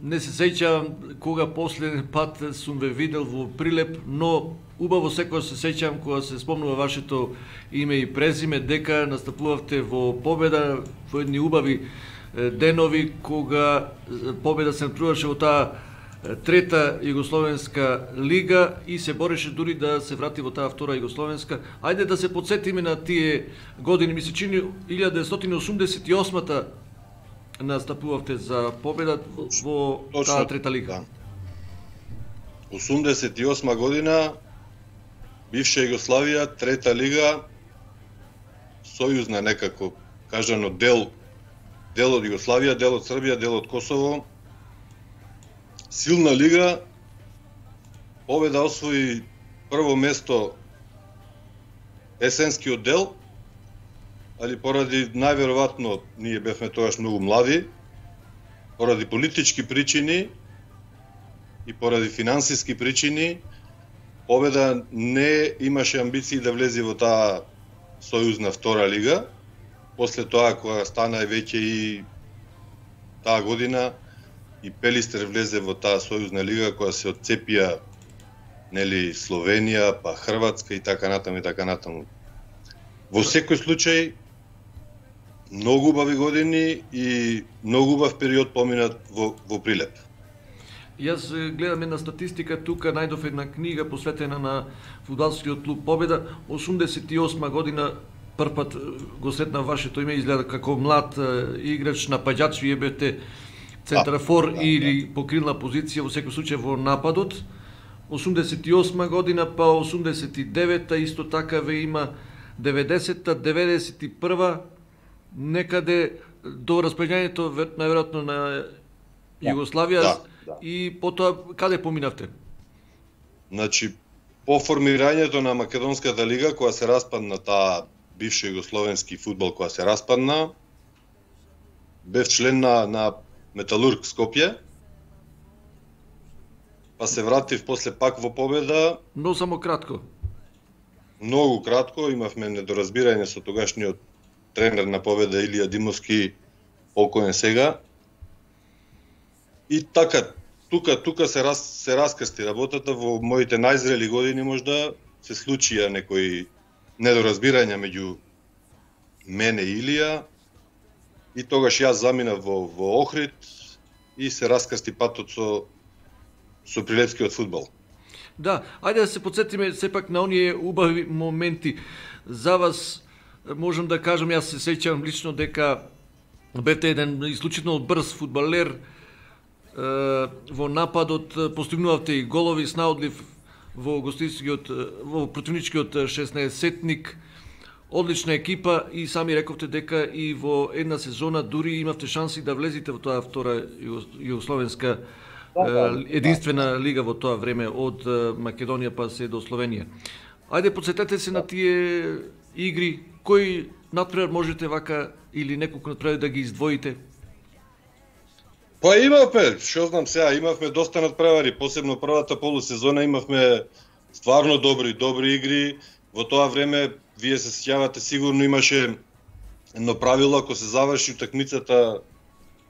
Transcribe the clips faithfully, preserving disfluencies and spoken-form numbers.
не се сеќавам кога последен пат сум ве видел во Прилеп, но убаво секогаш се сеќавам кога се спомнува вашето име и презиме, дека настапувавте во Победа, во едни убави денови, кога Победа се натруваше во таа трета Југословенска лига и се бореше дури да се врати во таа втора Југословенска. Ајде да се подсетиме на тие години, ми се чини илјада деветстотини осумдесет и осма настапувавте за Победа во Точно, таа трета лига. Да. осумдесет и осма година, бивша Југославија, трета лига, сојузна некако, кажано дел, дел од Југославија, дел од Србија, дел од Косово. Силна лига, Победа освои прво место есенскиот дел, али поради најверојатно ние бевме тогаш многу млади, поради политички причини и поради финансиски причини, Победа не имаше амбиции да влезе во таа сојузна втора лига. После тоа, кога стана веќе и таа година, и Пелистер влезе во таа сојузна лига, која се отцепија, нели, Словенија, па Хрватска и така натаму и така натаму. Во секој случај, многу убави години и многу убав период поминат во, во Прилеп. Јас гледам една статистика тука, најдов една книга посветена на фудбалскиот клуб Победа. осумдесет и осма година првпат го сретна вашето име, изгледа како млад играч, напаѓач, вие бевте центрафор да, да, или да. покрилна позиција во секој случај во нападот. осумдесет и осма година, па осумдесет и девета, исто така ве има деветдесета, деветдесет и прва, некаде до распределението најверојатно на Југославија, да, да. И потоа каде поминавте? Значи, по формирањето на Македонската лига, која се распадна, таа бивша југословенски фудбал која се распадна, бев член на, на Металург Скопје, па се вратив после пак во Победа. Но само кратко. Многу кратко, имавме недоразбирање со тогашниот тренер на Победа Илија Димовски, покоен сега. И така, тука тука се раз, се раскрсти работата. Во моите најзрели години можда се случија некои недоразбирања меѓу мене и Илија. И тогаш јас заминав во, во Охрид и се раскрсти патот со, со прилепскиот фудбал. Да, ајде да се подсетиме сепак на оние убави моменти. За вас можам да кажам, јас се сеќавам лично дека бете еден исклучително брз фудбалер, во нападот постигнувавте и голови с наодлив во гостинскиот, во противничкиот шеснаесетник. Одлична екипа и сами рековте дека и во една сезона дури имавте шанси да влезете во тоа втора југословенска единствена лига во тоа време од Македонија па се до Словенија. Ајде подсетете се на тие игри, кој натпревар можете вака или неколку натпревари да ги издвоите? Па имавме, што знам сега, имавме доста натпревари, посебно првата полусезона имавме стварно добри, добри игри. Во тоа време, вие се сеќавате, сигурно имаше едно правило, ако се заврши утакмицата,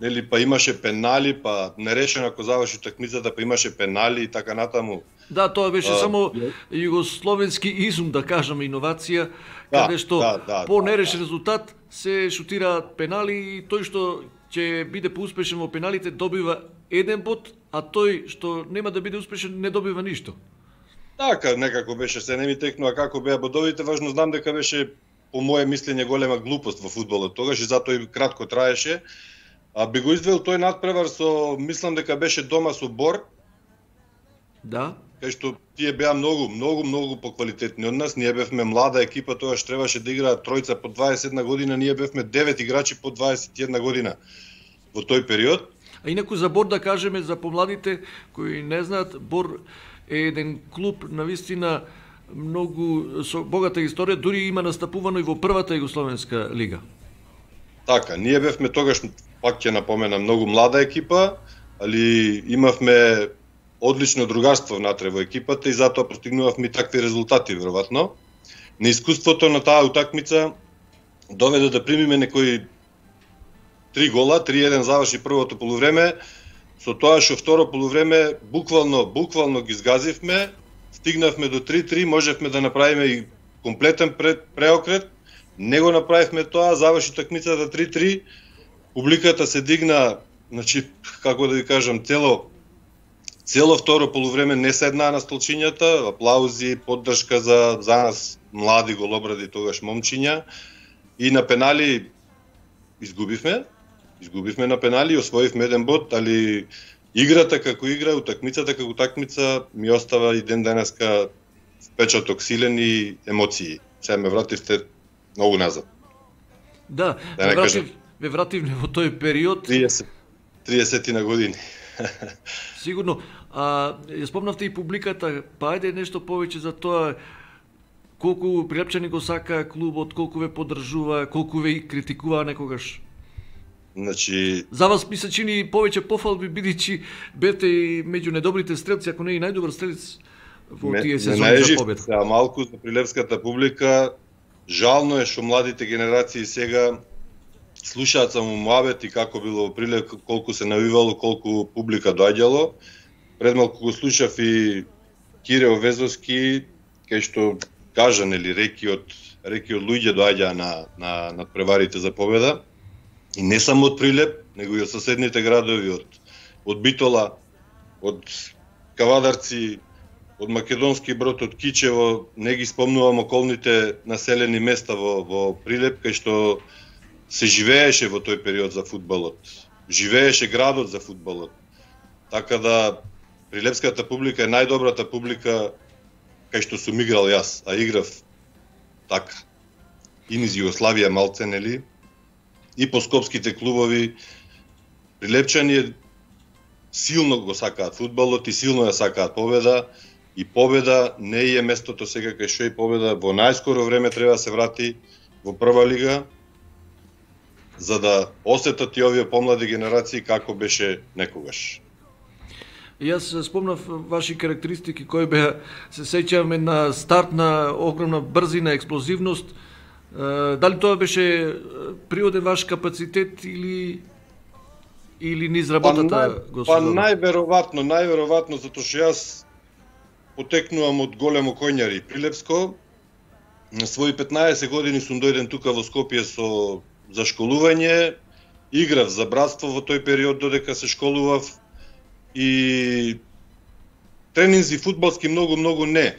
нели, па имаше пенали, па нерешено ако заврши утакмицата, па имаше пенали и така натаму. Да, тоа беше а, само југословенски изум, да кажеме, иновација, да, каде што да, да, по нерешен да, резултат се шутираат пенали и тој што ќе биде поуспешен во пеналите добива еден бод, а тој што нема да биде успешен не добива ништо. Така, некако беше, се не ми текнува како беа бодовите, важно знам дека беше, по моје мислење, голема глупост во фудбалот тогаш и затоа и кратко траеше. А би го издвоил тој натпревар со, мислам дека беше дома со Бор. Да. Кај што тие беа многу, многу, многу поквалитетни од нас. Ние бевме млада екипа, тогаш требаше да играат тројца по дваесет и една година, ние бевме девет играчи по дваесет и една година во тој период. А инаку за Бор да кажеме, за помладите кои не знаат, Бор е еден клуб навистина многу со богата историја, дури има настапувано и во првата југословенска лига. Така, ние бевме тогаш, пак ќе напоменам, многу млада екипа, али имавме одлично другарство внатре во екипата и затоа постигнувавме такви резултати веројатно. Неискуството на таа утакмица доведе да примиме некои три гола, три еден заврши првото полувреме. со тоа што второ полувреме буквално буквално ги згазивме, стигнавме до три три, можевме да направиме и комплетен преокрет, не го направивме тоа, заврши такмицата три три, публиката се дигна, значи како да ви кажам, цело цело второ полувреме не седнаа на столчињата, аплаузи, поддршка за за нас млади голобради тогаш момчиња, и на пенали изгубивме. Изгубивме на пенали и освоивме еден бод, али играта како игра, утакмицата како утакмица ми остава и ден денеска впечаток силен и емоции. Сега ме вративте многу назад. Да, да ме вратив, ме вратив во тој период. триесет, триесет на години. Сигурно. А, ја спомнавте и публиката, па ајде нешто повеќе за тоа, колку Прилепчани го сака клубот, колку ве поддржува, колку ве критикува некогаш. Значи, за вас ми се чини повеќе пофалби, бидејќи бете и меѓу недобрите стрелци, ако не и најдобар стрелец во ме, тие сезони за победа. Сега малку за прилепската публика, жално е што младите генерации сега слушаат само муабет и како било во Прилеп, колку се навивало, колку публика доаѓало. Пред малку го слушав и Кире Овезовски, кај што кажа, нели, реки од реки од луѓе доаѓаа на на надпреварите за победа. И не само од Прилеп, него и од соседните градови, од од Битола, од Кавадарци, од Македонски Брод, од Кичево, не ги спомнувам околните населени места во во Прилеп, кај што се живееше во тој период за фудбалот. Живееше градот за фудбалот. Така да прилепската публика е најдобрата публика кај што сум играл јас, а играв така. И низ Југославија малце, нели? И по скопските клубови. Прилепчани силно го сакаат фудбалот и силно ја сакаат победа. И победа не е местото сега кај што и победа во најскоро време треба да се врати во прва лига, за да осетат и овие помлади генерации како беше некогаш. Јас спомнав ваши карактеристики кои беа, се сеќаваме на старт на огромна брзина, експлозивност. Дали тоа беше природен ваш капацитет или или низ работата го Па најверојатно, најверојатно затоа што јас потекнувам од големо коњари Прилепско. На своји петнаесет години сум дојден тука во Скопје со за школување, играв за братство во тој период додека се школував и тренинзи фудбалски многу многу не.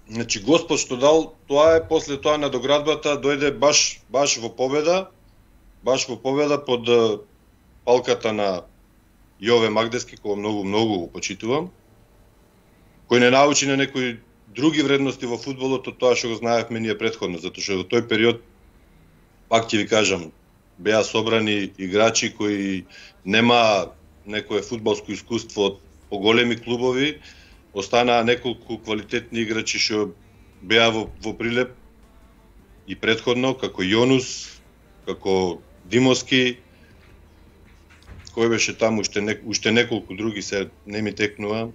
Значи Господ што дал, тоа е после тоа надоградбата дојде баш баш во победа, баш во победа под палката на Јове Магдески, кој многу многу го почитувам, кој не научи на некои други вредности во фудбалот од тоа што го знаевме ние претходно, затоа што во тој период, пак ќе ви кажам, беа собрани играчи кои нема некое фудбалско искуство од поголеми клубови, останаа неколку квалитетни играчи што беа во, во Прилеп и претходно, како Јонус, како Димовски, кој беше таму, уште, не, уште неколку други, се не ми текнува.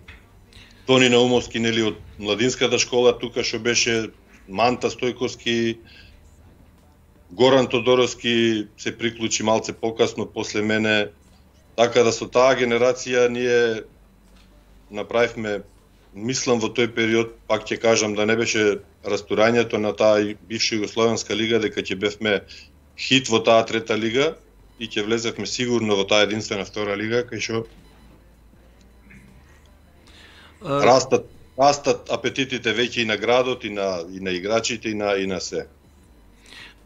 Тони Наумовски, нели, од младинската школа тука што беше, Манта Стојковски, Горан Тодоровски се приклучи малце покасно после мене. Така да со таа генерација ние направивме, мислам во тој период, пак ќе кажам да не беше растурањето на таа бивша Југословенска лига, дека ќе бевме хит во таа трета лига и ќе влезевме сигурно во таа единствена втора лига, кај што uh... растат, растат апетитите веќе и на градот, и на, и на играчите, и на, и на се.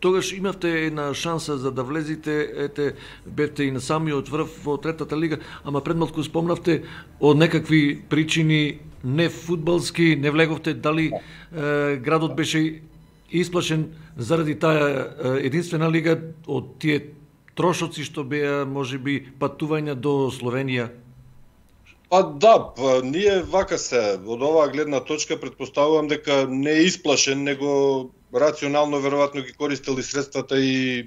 Тогаш имавте една шанса за да влезите, ете, бевте и на самиот врв во третата лига, ама пред малку спомнавте од некакви причини не фудбалски, не влеговте, дали е, градот беше исплашен заради таа единствена лига од тие трошоци што беа можеби патувања до Словенија? Па да, па, ние вака се, од оваа гледна точка претпоставувам дека не е исплашен, него рационално веројатно ги користели средствата и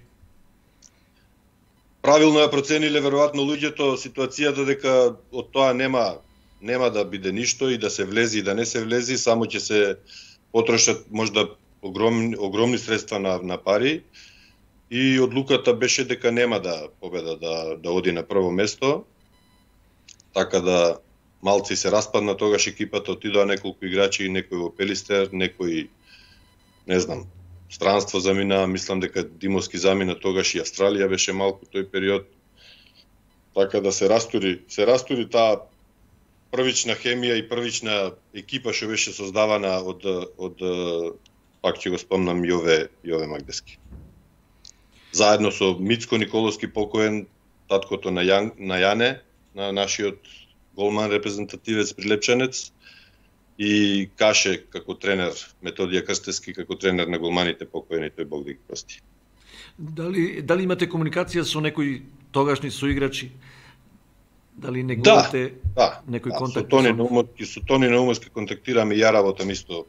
правилно ја процениле веројатно луѓето ситуацијата дека од тоа нема нема да биде ништо и да се влези и да не се влези, само ќе се потрошат можда огромни огромни средства на на пари и одлуката беше дека нема да победа да да оди на прво место. така да малци се распадна тогаш екипата, отидоа неколку играчи, некој во Пелистер, некој не знам, странство замина, мислам дека Димовски замина тогаш и Австралија беше малку тој период. Така да се растури, се растури таа првична хемија и првична екипа што беше создавана од од пак ќе го спомнам Јове Јове Магдески. Заедно со Мицко Николовски покоен, таткото на Јан, на Јане, на нашиот голман репрезентативец прилепчанец, и Каше како тренер, Методија Крстевски како тренер на голманите покоени, тој Бог да ги прости. Дали дали имате комуникација со некои тогашни соиграчи? Дали негувате да, некој да, контакт? Со Тони Наумовски, со Тони Наумовски контактираме и ја работам исто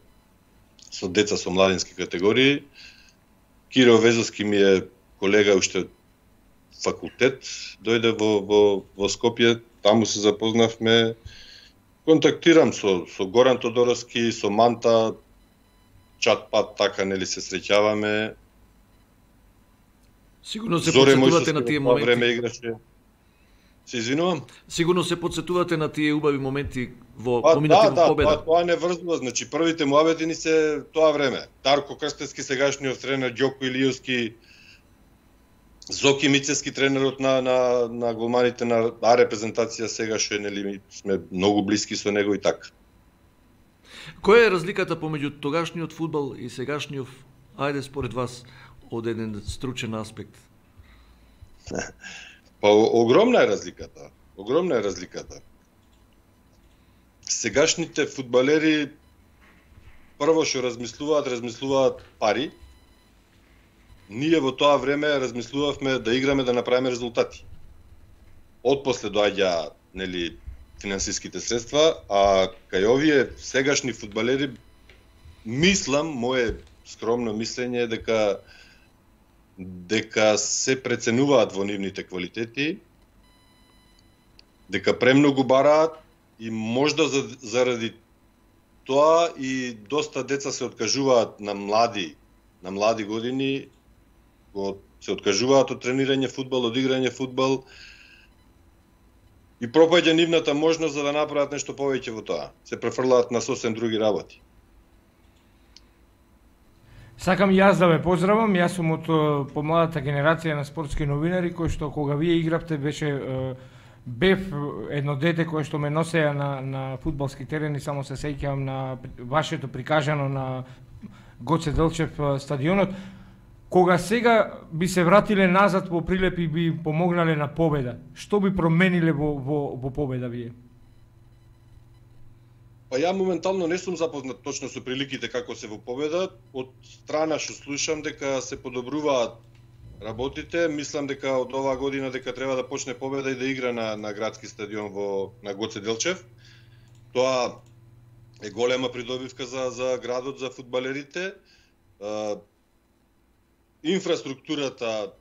со деца со младински категории. Киро Везовски ми е колега уште факултет, дојде во во во Скопје, таму се запознавме. Контактирам со со Горан Тодоровски, со Манта, чат пат така нели се среќаваме. Сигурно се подсетувате на тие моменти. Време играше. Се извинувам. Сигурно се подсетувате на тие убави моменти во па, поминати да, во победа. Да, тоа не врзува, значи првите муабети ни се тоа време. Дарко Крстевски, сегашниот тренер, Ѓоко Илиевски, Зоки Мицевски, тренерот на на на голманите на А репрезентација, сега што нели сме многу блиски со него и така. Која е разликата помеѓу тогашниот фудбал и сегашниот, ајде според вас, од еден стручен аспект? Па огромна е разликата. Огромна е разликата. Сегашните фудбалери прво што размислуваат, размислуваат пари. Ние во тоа време размислувавме да играме да направиме резултати. Отпосле доаѓа нели финансиските средства, а кај овие сегашни фудбалери мислам, мое скромно мислење е дека дека се преценуваат во нивните квалитети, дека премногу бараат и можда заради тоа и доста деца се откажуваат на млади, на млади години, го се откажуваат од тренирање фудбал, од играње фудбал и пропаѓа нивната можност за да направат нешто повеќе во тоа. Се префрлаат на сосем други работи. Сакам и јас да ве поздравам, јас сум од помладата генерација на спортски новинари, кои што кога вие игравте беше бев едно дете кое што ме носеа на на фудбалски терени, само се сеќавам на вашето прикажано на Гоце Делчев стадионот. Кога сега би се вратиле назад во Прилеп и би помогнале на победа, што би промениле во во во победа вие? Па ја моментално не сум запознат точно со приликите како се во победа. Од страна што слушам дека се подобруваат работите, мислам дека од оваа година дека треба да почне победа и да игра на на градски стадион во на Гоце Делчев. Тоа е голема придобивка за за градот, за фудбалерите. Uh, инфраструктурата,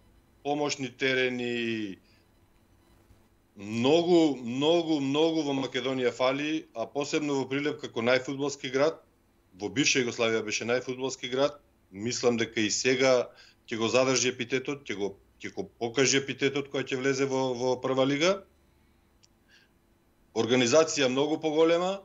помошни терени, многу, многу, многу во Македонија фали, а посебно во Прилеп како најфудбалски град, во бивша Југославија беше најфудбалски град, мислам дека и сега ќе го задржи епитетот, ќе го ќе го покаже епитетот кој ќе влезе во во прва лига. Организација многу поголема,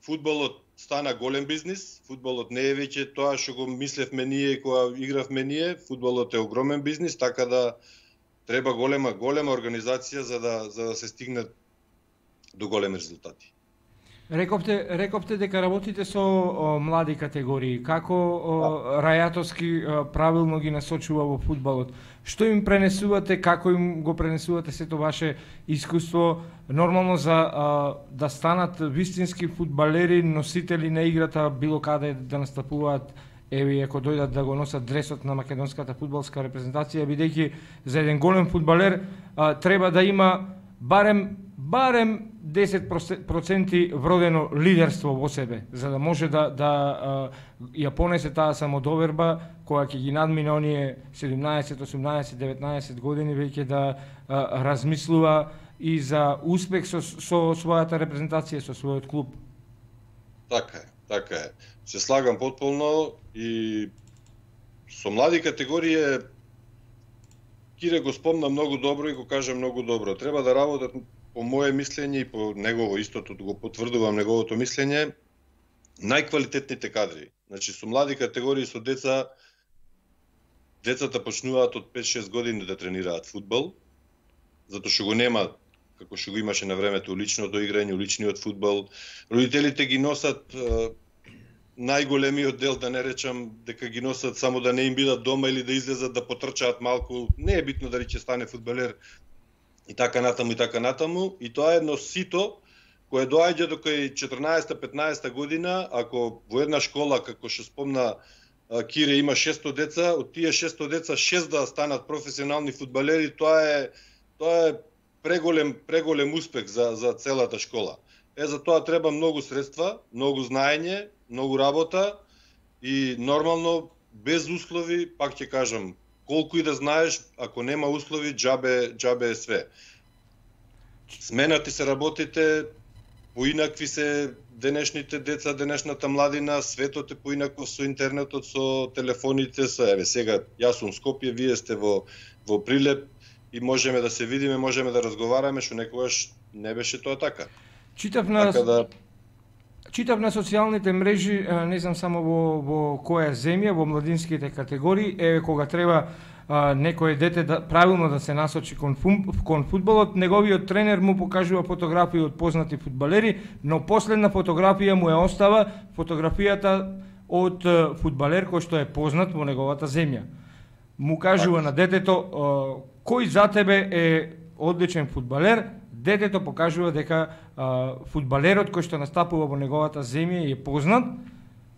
фудбалот стана голем бизнис, фудбалот не е веќе тоа што го мислевме ние кога игравме ние, фудбалот е огромен бизнис, така да треба голема голема организација за да за да се стигне до големи резултати. Рековте рековте дека работите со о, млади категории. Како о, Рајатовски о, правилно ги насочува во фудбалот? Што им пренесувате, како им го пренесувате сето ваше искуство нормално за а, да станат вистински фудбалери, носители на играта било каде да настапуваат, еви ако дојдат да го носат дресот на македонската фудбалска репрезентација, бидејќи за еден голем фудбалер а, треба да има барем барем десет проценти вродено лидерство во себе, за да може да да а, ја понесе таа самодоверба која ќе ги надмине оние седумнаесет, осумнаесет, деветнаесет години веќе да а, размислува и за успех со, со својата репрезентација, со својот клуб. Така е, така е. Се слагам потполно и со млади категории Кире го спомна многу добро и го кажа многу добро. Треба да работат по мое мислење и по негово истото го потврдувам неговото мислење, најквалитетните кадри. Значи со млади категории со деца, децата почнуваат од пет-шест години да тренираат фудбал, затоа што го нема како што го имаше на времето уличното играње, уличниот фудбал. Родителите ги носат е, најголемиот дел, да не речам дека ги носат само да не им бидат дома или да излезат да потрчаат малку. Не е битно дали ќе стане фудбалер и така натаму и така натаму. И тоа е едно сито кое доаѓа до кај четрнаесетта-петнаесетта година, ако во една школа, како што спомна Кире, има шестстотини деца, од тие шестстотини деца шест да станат професионални фудбалери, тоа е тоа е преголем преголем успех за за целата школа. Е, за тоа треба многу средства, многу знаење, многу работа и нормално без услови, пак ќе кажам, колку и да знаеш, ако нема услови, џабе џабе е све. Сменати се работите, поинакви се денешните деца, денешната младина, светот е поинаков со интернетот, со телефоните, со еве сега јас сум Скопје, вие сте во во Прилеп и можеме да се видиме, можеме да разговараме, што некогаш не беше тоа така. Читав на Така да Читав на социјалните мрежи, не знам само во во која земја, во младинските категории, еве кога треба а, некое дете да правилно да се насочи кон, фум, кон фудбалот, неговиот тренер му покажува фотографии од познати фудбалери, но последна фотографија му ја остава фотографијата од фудбалер кој што е познат во неговата земја. Му кажува на детето кој за тебе е одличен фудбалер, детето покажува дека а, фудбалерот кој што настапува во неговата земја е познат,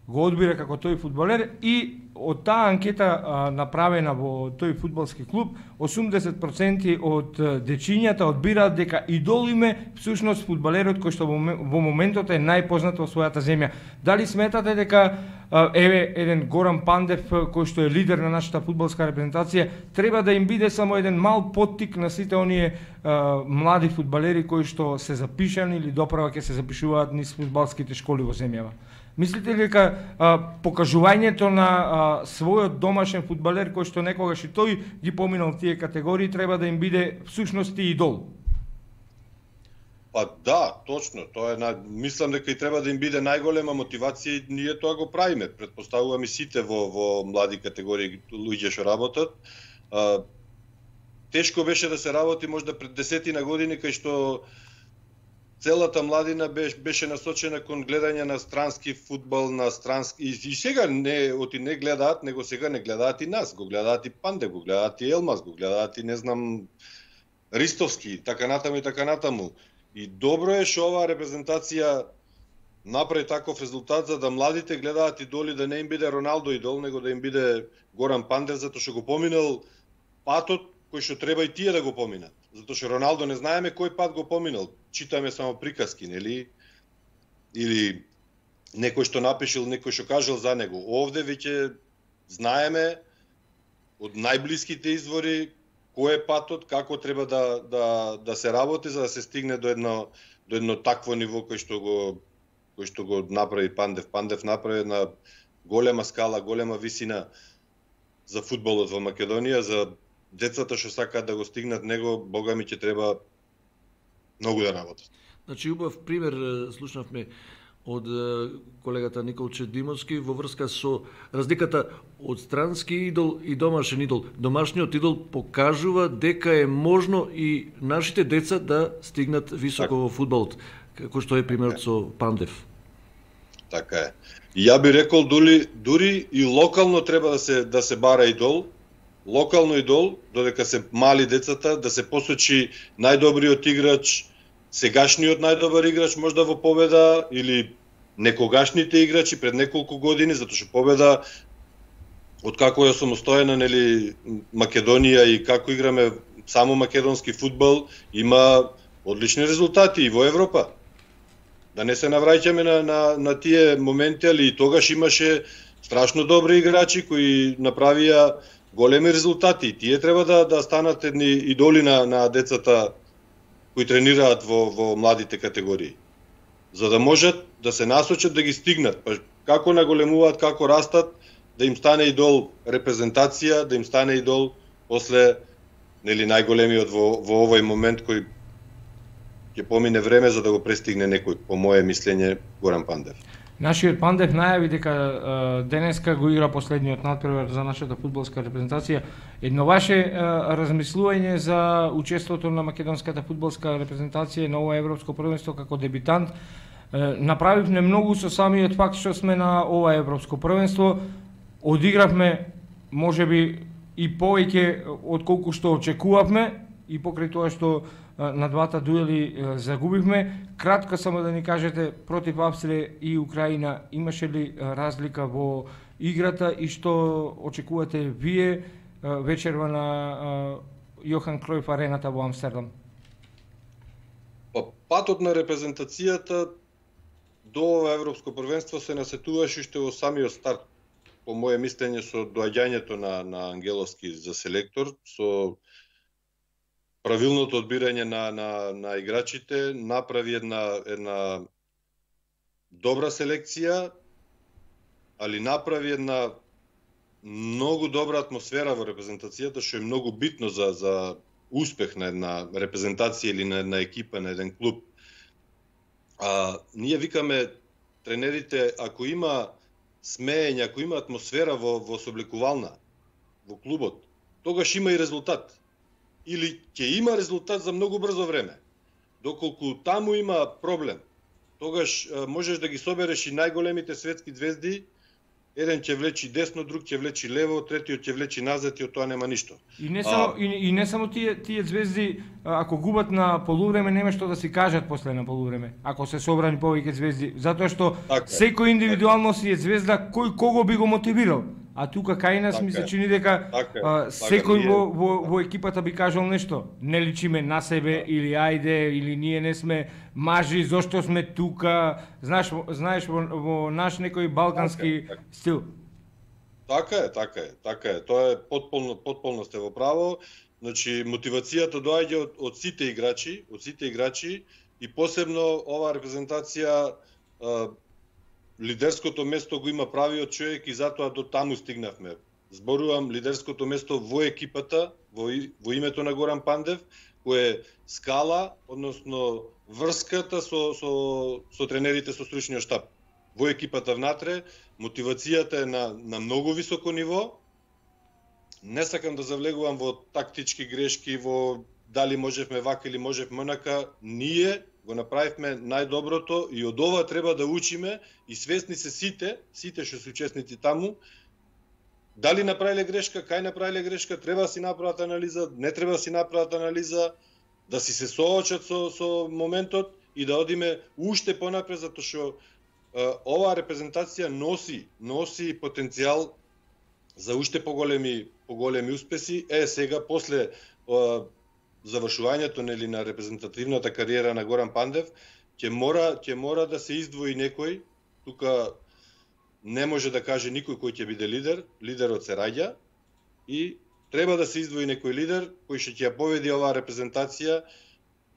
го одбира како тој фудбалер и од таа анкета а, направена во тој фудбалски клуб, осумдесет проценти од дечињата одбираат дека идол им е всушност фудбалерот кој што во, во моментот е најпознат во својата земја. Дали сметате дека а, еве еден Горан Пандев кој што е лидер на нашата фудбалска репрезентација треба да им биде само еден мал поттик на сите оние а, млади фудбалери кои што се запишани или доправа ќе се запишуваат низ фудбалските школи во земјава? Мислите ли дека а, покажувањето на а, својот домашен фудбалер кој што некогаш и тој ги поминал тие категории треба да им биде всушност и идол? Па да, точно, тоа е на... мислам дека и треба да им биде најголема мотивација и ние тоа го правиме. Претпоставувам и сите во во млади категории луѓе што работат. А, тешко беше да се работи можда пред десетина години кај што целата младина беше, беше насочена кон гледање на странски фудбал, на странски... И, и сега не, оти не гледаат, него сега не гледаат и нас. Го гледаат и Панде, го гледаат и Елмаз, го гледаат и, не знам, Ристовски, така натаму и така натаму. И добро е што оваа репрезентација направи таков резултат, за да младите гледаат идоли, да не им биде Роналдо идол, него да им биде Горан Пандев, затоа што го поминал патот кој што треба и тие да го поминат. Затоа што Роналдо не знаеме кој пат го поминал. Читаме само приказки, нели? Или некој што напишил, некој што кажал за него. Овде веќе знаеме од најблиските извори кој е патот, како треба да да да се работи за да се стигне до едно до едно такво ниво кој што го кој што го направи Пандев. Пандев направи на голема скала, голема висина за фудбалот во Македонија, за децата што сакаат да го стигнат него, бога ми ќе треба многу да работат. Значи, убав пример слушнавме од колегата Николче Димовски во врска со разликата од странски идол и домашен идол. Домашниот идол покажува дека е можно и нашите деца да стигнат високо так во фудбалот, како што е примерот така со Пандев. Така е. И ја би рекол дури дури и локално треба да се да се бара идол. Локално идол, додека се мали децата, да се посочи најдобриот играч, сегашниот најдобар играч можда во победа, или некогашните играчи пред неколку години, затоа што победа од како е самостојна, нели, Македонија и како играме само македонски фудбал, има одлични резултати и во Европа. Да не се навраќаме на, на, на тие моменти, али и тогаш имаше страшно добри играчи кои направија големи резултати. Тие треба да да станат едни идоли на на децата кои тренираат во во младите категории. За да можат да се насочат да ги стигнат. Па како наголемуваат, како растат, да им стане идол репрезентација, да им стане идол после, нели, најголемиот во во овој момент кој ќе помине време за да го престигне некој, по мое мислење, Горан Пандев. Нашиот Пандев најави дека е, денеска го игра последниот надпревар за нашата фудбалска репрезентација. Едно ваше е, размислување за учеството на македонската фудбалска репрезентација на ова европско првенство како дебитант. Е, направивме многу со самиот факт што сме на ова европско првенство. Одигравме можеби и повеќе од колку што очекувавме и покрај тоа што на двата дуели загубивме. Кратко само да ни кажете, против Австрија и Украина имаше ли разлика во играта и што очекувате вие вечерва на Јохан Кројф арената во Амстердам? Па, патот на репрезентацијата до ова европско првенство се насетуваше уште во самиот старт, по мое мислење, со доаѓањето на, на Ангеловски за селектор, со правилното одбирање на, на, на играчите, направи една, една добра селекција, али направи една многу добра атмосфера во репрезентацијата, што е многу битно за, за успех на една репрезентација или на една екипа, на еден клуб. А, ние викаме тренерите, ако има смеење, ако има атмосфера во, во соблекувална, во клубот, тогаш има и резултат. Или ќе има резултат за многу брзо време. Доколку таму има проблем, тогаш а, можеш да ги собереш и најголемите светски звезди, еден ќе влечи десно, друг ќе влечи лево, третиот ќе влечи назад и од тоа нема ништо. И не само, а, и, и не само тие, тие звезди, ако губат на полувреме, нема што да си кажат после на полувреме, ако се собрани повеќе звезди, затоа што така, секој индивидуално си е звезда, кој кого би го мотивирал. А тука кај нас така, ми се чини дека така, а, секој така, во, во, во екипата би кажал нешто. Не личиме на себе, да. Или ајде, или ние не сме мажи, зошто сме тука, знаеш, знаеш во, во наш некој балкански така, така. стил. Така е, така е, така е. Тоа е потполно, потполно сте во право. Значи, мотивацијата доаѓа од, од сите играчи, од сите играчи и посебно оваа репрезентација а, лидерското место го има правиот човек и затоа до таму стигнавме. Зборувам лидерското место во екипата, во, во името на Горан Пандев, кој е скала, односно врската со, со, со тренерите со стручниот штаб. Во екипата внатре, мотивацијата е на, на многу високо ниво. Не сакам да завлегувам во тактички грешки, во дали можевме вака или можевме онака. Ние го направивме најдоброто и од ова треба да учиме и свесни се сите, сите што се учесници таму, дали направиле грешка, кај направиле грешка, треба да си направат анализа, не треба да си направат анализа, да си се соочат со, со моментот и да одиме уште понапред, затоа што оваа репрезентација носи, носи потенцијал за уште поголеми, поголеми успеси. Е, сега, после завршувањето нели на репрезентативната кариера на Горан Пандев, ќе мора ќе мора да се издвои некој. Тука не може да каже никој кој ќе биде лидер, лидерот се раѓа и треба да се издвои некој лидер кој ќе ќе ја поведи оваа репрезентација,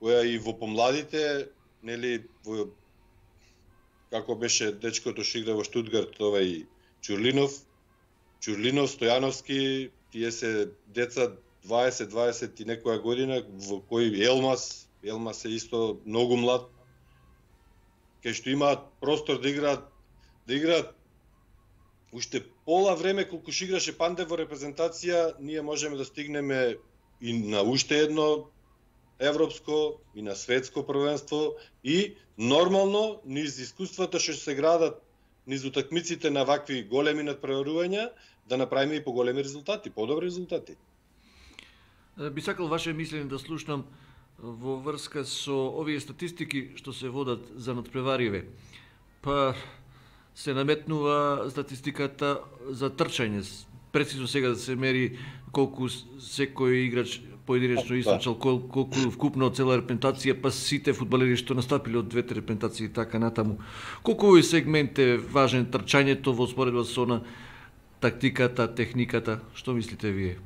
која и во помладите, нели, во, како беше дечкото што игра во Штутгарт, овај Чурлинов, Чурлинов, Стојановски, тие се деца дваесет дваесет и некоја година, во кој Елмас, Елмас е исто многу млад, кај што имаат простор да играат, да играат уште пола време колку што играше Пандев во репрезентација, ние можеме да стигнеме и на уште едно европско и на светско првенство и нормално низ искуствата што се градат низ утакмиците на вакви големи надпреварувања да направиме и поголеми резултати, подобри резултати. Би сакал ваше мислење да слушнам во врска со овие статистики што се водат за надпревариве. Па се наметнува статистиката за трчање. Прецизно сега да се мери колку секој играч поединечно истрчал, колку вкупно цела репрезентација, па сите фудбалери што настапиле од двете репрезентации и така натаму. Колку овој сегмент е важен трчањето во споредба со на тактиката, техниката, што мислите вие?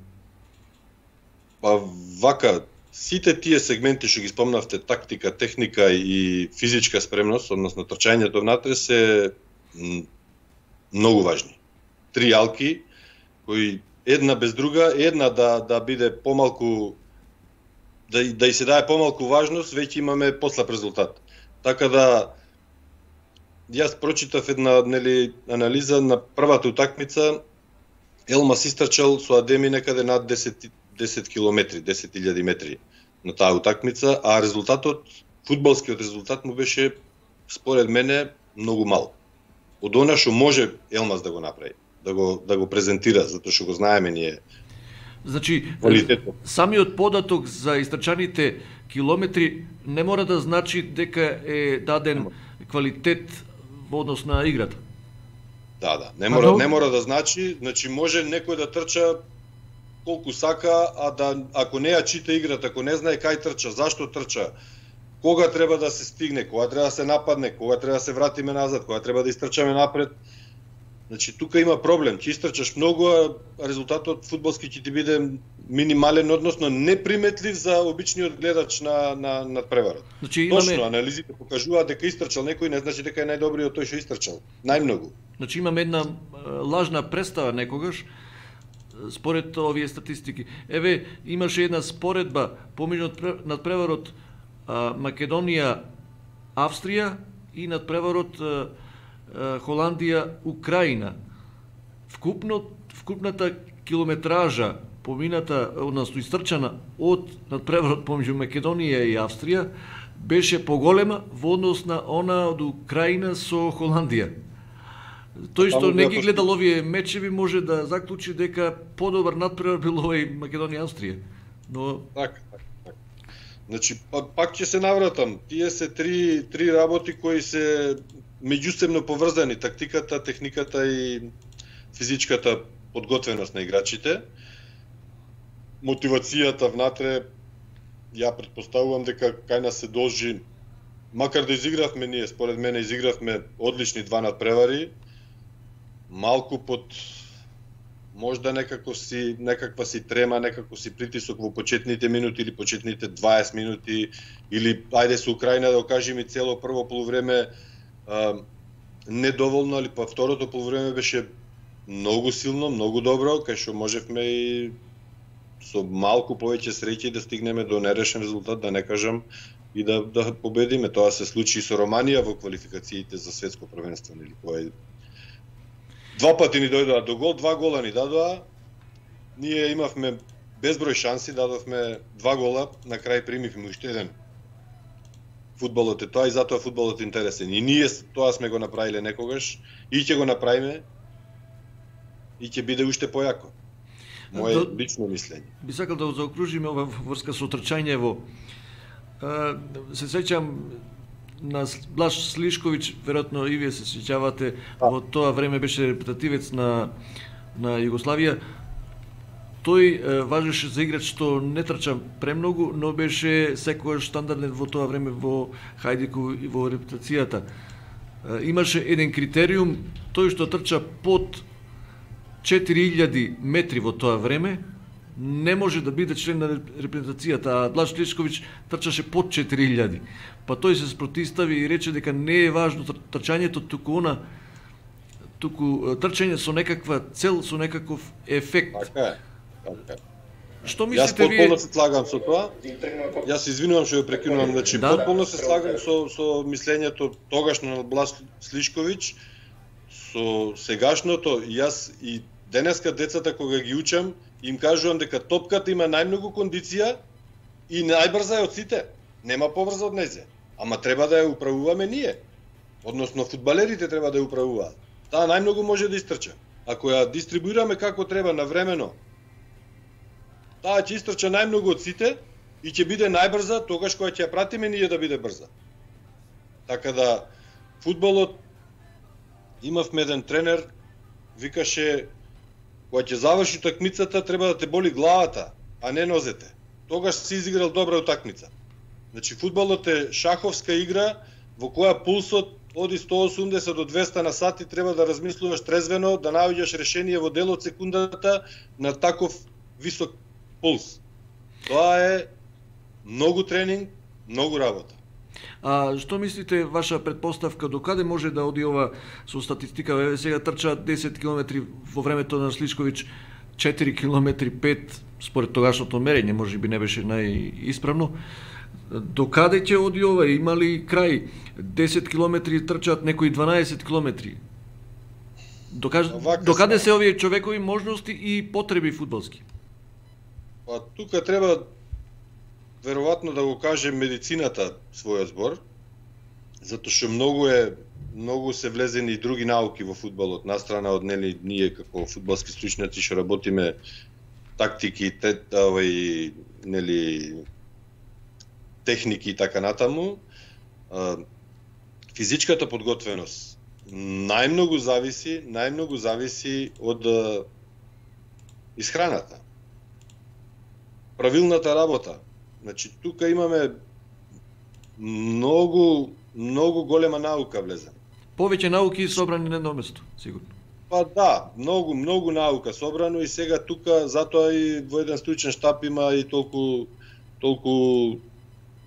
Па вака, сите тие сегменти што ги спомнавте, тактика, техника и физичка спремност, односно трчањето внатре, се многу важни. Три јалки кои една без друга, една да да биде помалку да, да и се даде помалку важност, веќе имаме послаб резултат. Така да, јас прочитав една, нели, анализа на првата утакмица, Елмас истрчал со Адеми некаде над десет, десет километри, десет илјади метри на таа утакмица, а резултатот, фудбалскиот резултат му беше, според мене, многу мал. Од она што може Елмас да го направи, да го, да го презентира, затоа што го знаеме ние. Значи, квалитетот. Самиот податок за истрчаните километри не мора да значи дека е даден квалитет во однос на играта. Да, да, не мора, не мора да значи, значи може некој да трча колку сака, а да ако не ја чита играта, ако не знае кај трча, зашто трча, кога треба да се стигне, кога треба да се нападне, кога треба да се вратиме назад, кога треба да истрчаме напред. Значи тука има проблем, ќе истрчаш многу, а резултатот фудбалски ќе ти биде минимален, односно неприметлив за обичниот гледач на на надпреварот. Значи имаме... Точно, анализите покажуваат дека истрчал некој, не значи дека е најдобриот тој што истрчал. Најмногу. Значи имаме една лажна представа некогаш според овие статистики. Еве имаше една споредба помеѓу надпреварот Македонија Австрија и надпреварот Холандија Украина. Вкупно вкупната километража помината, односно истрчана од надпреварот помеѓу Македонија и Австрија беше поголема во однос на она од Украина со Холандија. Тој што не ги гледал овие мечеви може да заклучи дека подобар надпревар бил овој Македонија Австрија. Но така, така, така. Значи пак ќе се навратам. Тие се три три работи кои се меѓусебно поврзани, тактиката, техниката и физичката подготвеност на играчите. Мотивацијата внатре, ја претпоставувам дека кај нас се должи, макар да изигравме ние, според мене изигравме одлични два надпревари, малку под можда некако си некаква си трема, некако си притисок во почетните минути или почетните дваесет минути или ајде со Украина да окажеме цело прво полувреме а, недоволно, али па второто полувреме беше многу силно, многу добро, кај што можевме и со малку повеќе среќа да стигнеме до нерешен резултат, да не кажам и да да победиме. Тоа се случи со Романија во квалификациите за светско првенство, нели, кој два пати ни дојдоа до гол, два гола ни дадоа. Ние имавме безброј шанси, дадовме два гола, на крај примивме уште еден. Фудбалот е тоа и затоа фудбалот е интересен. И ние тоа сме го направиле некогаш и ќе го направиме и ќе биде уште појако. Моје До... лично мислење. Би сакал да заокружиме ова врска со трчањево. Се сеќам на Блаш Слишковиќ, веројатно и вие се сеќавате, во тоа време беше репретативец на на Југославија. Тој е, важеше за играч што не трча премногу, но беше секогаш стандарден во тоа време во Хајдику и во репутацијата. Е, имаше еден критериум, тој што трча под четири илјади метри во тоа време, не може да биде член на репрезентацијата, а Блаж Слишковиќ трчаше под четири илјади. Па тој се спротистави и рече дека не е важно трчањето, туку она туку трчање со некаква цел, со некаков ефект. Така е. Така е. Што мислите Јас вие? потполно се слагам со тоа. Јас се извинувам што ја прекинувам, значи да? Потполно се слагам со со мислењето тогашно на Блаж Слишковиќ, со сегашното. Јас и денеска децата кога ги учам, им кажувам дека топката има најмногу кондиција и најбрза е од сите. Нема побрза од незе. Ама треба да ја управуваме ние. Односно фудбалерите треба да ја управуваат. Таа најмногу може да истрча. Ако ја дистрибуираме како треба навремено, таа ќе истрча најмногу од сите и ќе биде најбрза тогаш кога ќе ја пратиме ние да биде брза. Така да фудбалот, имавме еден тренер, викаше кога ќе заврши утакмицата треба да те боли главата, а не нозете. Тогаш си изиграл добра утакмица. Значи фудбалот е шаховска игра во која пулсот оди сто и осумдесет до двеста на сат и треба да размислуваш трезвено, да наоѓаш решение во дел од секундата на таков висок пулс. Тоа е многу тренинг, многу работа. А што мислите, ваша предпоставка, до каде може да оди ова со статистика? Еве сега трча десет километри во времето на Слишковиќ. четири километри, пет, според тогашното мерење, може би не беше најисправно. До каде ќе оди ова? Има ли крај? десет километри трчаат, некои дванаесет километри. Докаж... До каде се овие човекови можности и потреби фудбалски? Па тука треба веројатно да го каже медицината својот збор, затоа што многу е многу се влезени и други науки во фудбалот, настрана од нели ние како фудбалски стручњаци што работиме тактики, те, овај нели техники и така натаму. Физичката подготвеност најмногу зависи, најмногу зависи од исхраната. Правилната работа. Значи тука имаме многу многу голема наука влезена. Повеќе науки собрани на едно место, сигурно. Па да, многу многу наука собрано и сега тука затоа и во еден стручен штаб има и толку толку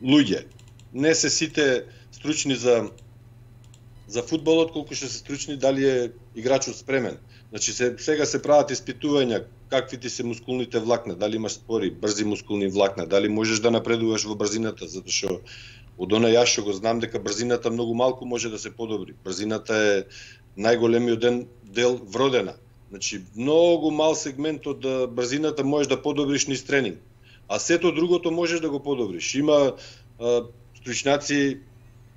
луѓе. Не се сите стручни за за фудбалот, колку што се стручни дали е играчот спремен. Значи се, сега се прават испитувања какви ти се мускулните влакна, дали имаш спори, брзи мускулни влакна, дали можеш да напредуваш во брзината, затоа што од она јас што го знам дека брзината многу малку може да се подобри. Брзината е најголемиот дел вродена. Значи многу мал сегмент од брзината можеш да подобриш низ тренинг, а сето другото можеш да го подобриш. Има а, стручњаци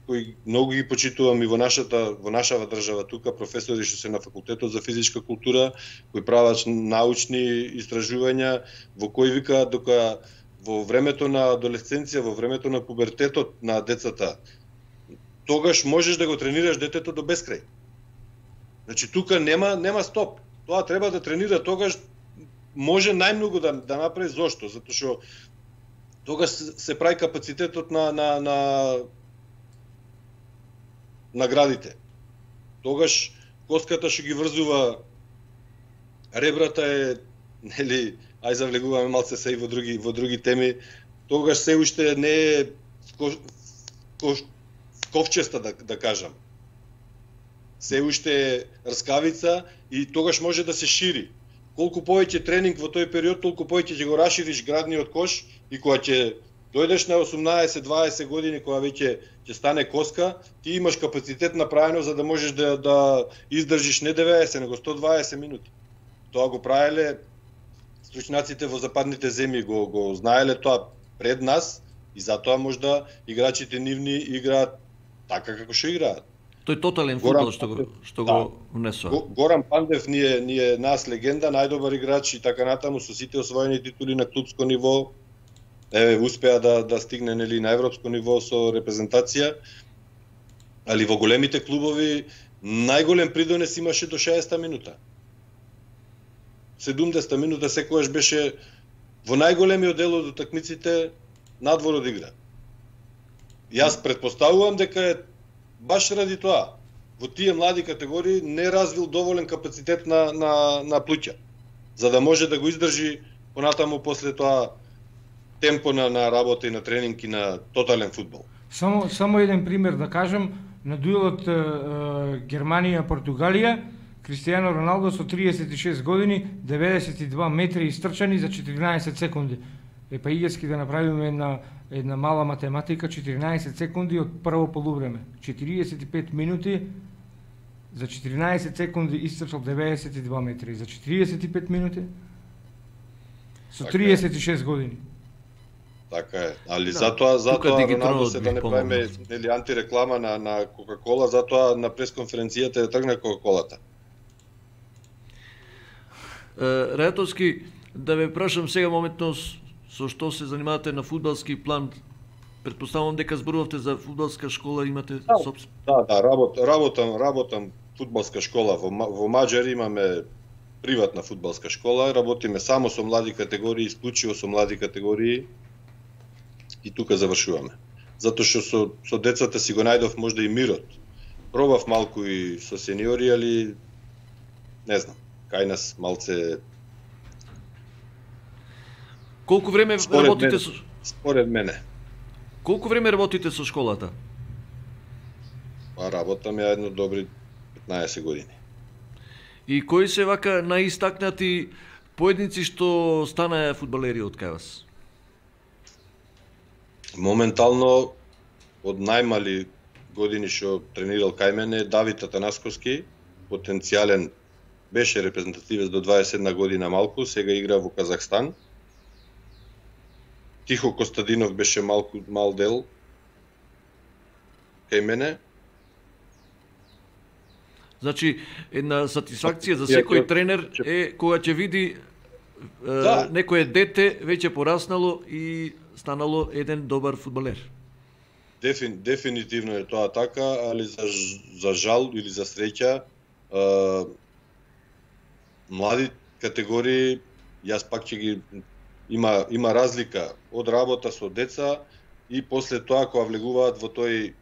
кои многу ги почитувам и во нашата во нашава држава тука, професори што се на факултетот за физичка култура, кои прават научни истражувања во кои викаат дека во времето на адолесценција, во времето на пубертетот на децата, тогаш можеш да го тренираш детето до бескрај. Значи тука нема нема стоп. Тоа треба да тренира тогаш може најмногу да да направи. Зошто? Затоа што тогаш се прави капацитетот на на на наградите. Тогаш коската што ги врзува ребрата е, нели, ај завлегуваме малце се и во други во други теми, тогаш се уште не е ко, ко, ковчеста да да кажам. Се уште е рскавица и тогаш може да се шири. Колку повеќе тренинг во тој период, толку повеќе ќе го расшириш градниот кош и кога ќе дојдеш на осумнаесет дваесет години, кога веќе ќе стане коска, ти имаш капацитет направено за да можеш да да издржиш не деветдесет, него сто дваесет минути. Тоа го правеле стручњаците во западните земји, го го знаеле тоа пред нас и затоа можда играчите нивни играат така како што играат. Тој тотален фудбал што го што го внесува. Да. Горан Пандев ни е ни е нас легенда, најдобар играч и така натаму со сите освоени титули на клубско ниво. Еве успеа да да стигне нели на европско ниво со репрезентација. Али во големите клубови најголем придонес имаше до шеесетта минута. седумдесетта минута секогаш беше во најголемиот дел од утакмиците надвор од игра. Јас претпоставувам дека е баш ради тоа во тие млади категории не развил доволен капацитет на на на плуќа за да може да го издржи понатаму после тоа темпо на на работа и на тренинг и на тотален фудбал. Само само еден пример да кажам, на дуелот Германија-Португалија, Кристијано Роналдо со триесет и шест години, деветдесет и два метри истрчани за четиринаесет секунди. Е па игески да направиме една една мала математика, четиринаесет секунди од прво полувреме. четириесет и пет минути за четиринаесет секунди истрчал деветдесет и два метри. За четириесет и пет минути со триесет и шест години. Така е. Али да, затоа затоа Роналдо се да не правиме нели антиреклама на на Кока-кола, затоа на пресконференцијата ја тргна Кока-колата. Рајатовски, да ве прашам сега моментно со што се занимавате на фудбалски план. Претпоставувам дека зборувавте за фудбалска школа, имате да, собствен. Да, да, работ, работам, работам фудбалска школа во во Маџари, имаме приватна фудбалска школа, работиме само со млади категории, исклучиво со млади категории и тука завршуваме. Затоа што со со децата си го најдов можда и мирот. Пробав малку и со сениори, али не знам, кај нас малце. Колку време според работите мене, со според мене? Колку време работите со школата? Па работам ја едно добри петнаесет години. И кои се вака најистакнати поединци што станаа фудбалери од кај вас? Моментално од најмали години што тренирал кај мене Давид Атанасковски, потенцијален, беше репрезентативец до дваесет и една година малку, сега игра во Казахстан. Тихо Костадинов беше малку мал дел кај мене. Значи, една сатисфакција за секој тренер е кога ќе види Да. некое дете веќе пораснало и станало еден добар фудбалер. Дефин, дефинитивно е тоа така, али за, за жал или за среќа, е, млади категории, јас пак ќе ги има има разлика од работа со деца и после тоа кога влегуваат во тој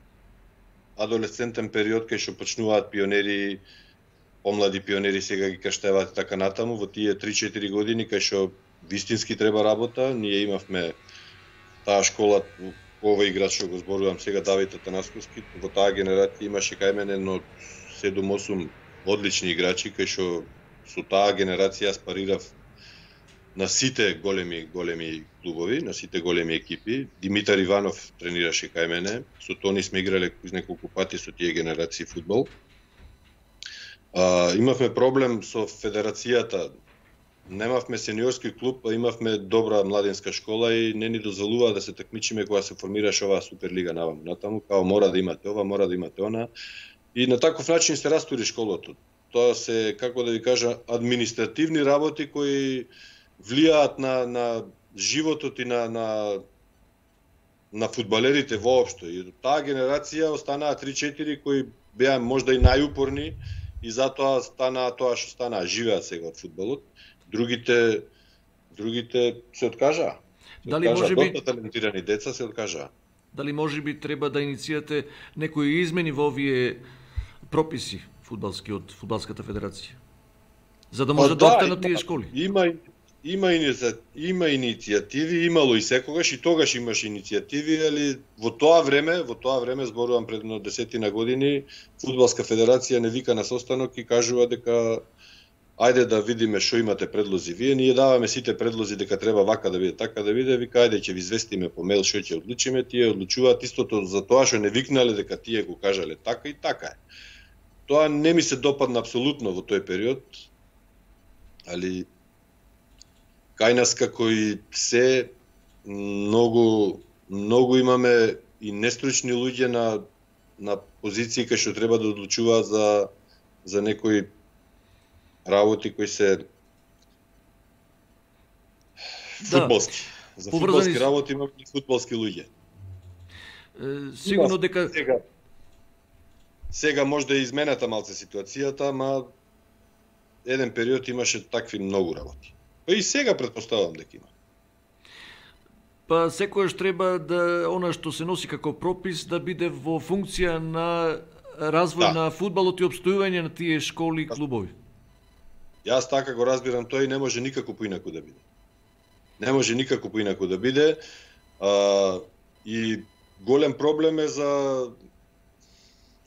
адолесцентен период кај што почнуваат пионери, помлади пионери сега ги крштеваат и така натаму, во тие три-четири години кај што вистински треба работа, ние имавме таа школа, овој играч што го зборувам сега, Давид Атанасковски, во таа генерација имаше кај мене едно седум-осум одлични играчи кај што со таа генерација јас парирав на сите големи големи клубови, на сите големи екипи. Димитар Иванов тренираше кај мене, со Тони сме играле неколку пати со тие генерации фудбал. А, имавме проблем со федерацијата. Немавме сениорски клуб, а имавме добра младинска школа и не ни дозволува да се такмичиме кога се формираше оваа Суперлига наваму натаму, као мора да имате ова, мора да имате она. И на таков начин се растури школото. Тоа се, како да ви кажа, административни работи кои влијаат на, на животот и на, на, на фудбалерите воопшто. И таа генерација останаа три-четири кои беа можда и најупорни и затоа станаа тоа што станаа, живеат сега од фудбалот. Другите другите се откажаа. Се Дали откажаа. може би Доста талентирани деца се откажаа. Дали може би треба да иницијате некои измени во овие прописи фудбалски од фудбалската федерација? За да може Па да да, останат има- тие школи. Има има иници- има иницијативи, имало и секогаш и тогаш имаше иницијативи, али во тоа време, во тоа време зборувам пред едно десетина години, фудбалска федерација не вика на состанок и кажува дека ајде да видиме што имате предлози вие, ние даваме сите предлози дека треба вака да биде, така да биде, вика ајде ќе ви известиме по мејл што ќе одлучиме, тие одлучуваат истото за тоа што не викнале дека тие го кажале така и така е. Тоа не ми се допадна апсолутно во тој период, али кај нас како и се многу многу имаме и нестручни луѓе на на позиции кај што треба да одлучуваат за за некои работи кои се Да, фудбалски. За поврзани фудбалски с- работи имаме и фудбалски луѓе. Е, Сигурно дека Сега, сега може да е измената малце ситуацијата, ама еден период имаше такви многу работи. Па и сега претпоставувам дека има. па секојаш треба да она што се носи како пропис да биде во функција на развој Да. на фудбалот и обстојување на тие школи и клубови. Јас така го разбирам тој, не може никако поинаку да биде. Не може никако поинаку да биде. А, и голем проблем е за,